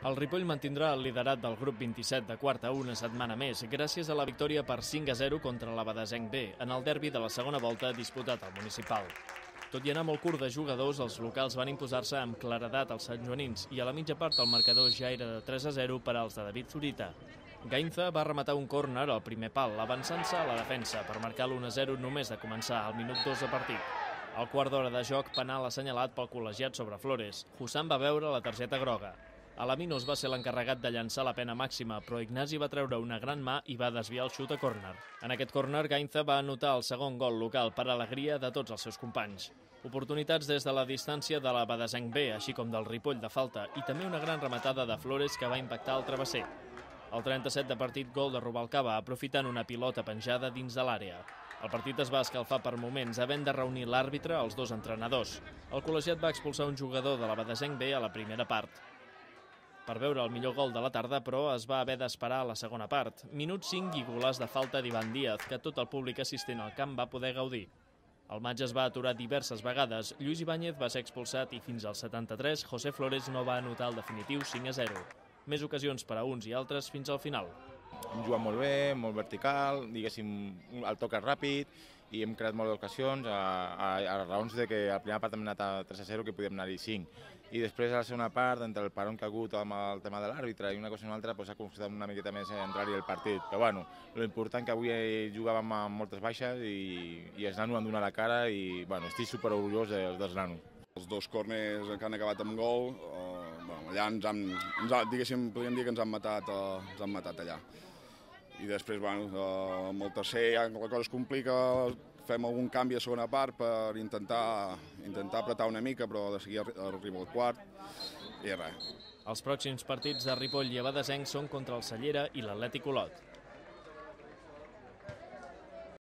El Ripoll mantindrà el liderat del grup 27 de quarta una setmana més gràcies a la victòria per 5-0 contra l'Abadesenc B en el derbi de la segona volta disputat al municipal. Tot i anar molt curt de jugadors, els locals van imposar-se amb claredat als santjoanins i a la mitja part el marcador ja era de 3-0 per als de David Zurita. Gainza va rematar un córner al primer pal, avançant-se a la defensa per marcar l'1-0 només de començar al minut 2 de partit. Al quart d'hora de joc, penal assenyalat pel col·legiat sobre Flores. Hussan va veure la targeta groga. Alaminos va ser l'encarregat de llançar la pena màxima, però Ignasi va treure una gran mà i va desviar el xut a córner. En aquest córner, Gainza va anotar el segon gol local per alegria de tots els seus companys. Oportunitats des de la distància de l'Abadesenc B, així com del Ripoll de falta, i també una gran rematada de Flores que va impactar el travesser. Al 37 de partit, gol de Rubalcaba, aprofitant una pilota penjada dins de l'àrea. El partit es va escalfar per moments, havent de reunir l'àrbitre als dos entrenadors. El col·legiat va expulsar un jugador de l'Abadesenc B a la primera part. Per veure el millor gol de la tarda, però, es va haver d'esperar a la segona part. Minut 5 i golàs de falta d'Ivan Díaz, que tot el públic assistent al camp va poder gaudir. El maig es va aturar diverses vegades. Lluís Ibáñez va ser expulsat i fins al 73 José Flores no va anotar el definitiu 5-0. Més ocasions per a uns i altres fins al final. Hem jugat molt bé, molt vertical, diguéssim, el toc és ràpid i hem creat moltes ocasions a raons de que a la primera part hem anat a 3-0 que podíem anar-hi 5. I després a la segona part, entre el paron que ha hagut amb el tema de l'àrbitre i una cosa i una altra, ha costat una miqueta més entrar-hi el partit. Però bueno, l'important que avui jugàvem amb moltes baixes i els nanos han donat la cara i bueno, estic superorgullós dels nanos. Els dos córners que han acabat amb gol, allà diguéssim, podríem dir que ens han matat allà. I després, amb el tercer ja la cosa es complica, fem algun canvi a segona part per intentar apretar una mica, però de seguir arriba al quart i res. Els pròxims partits de Ripoll i Abadesenc són contra el Cellera i l'Atlètic Olot.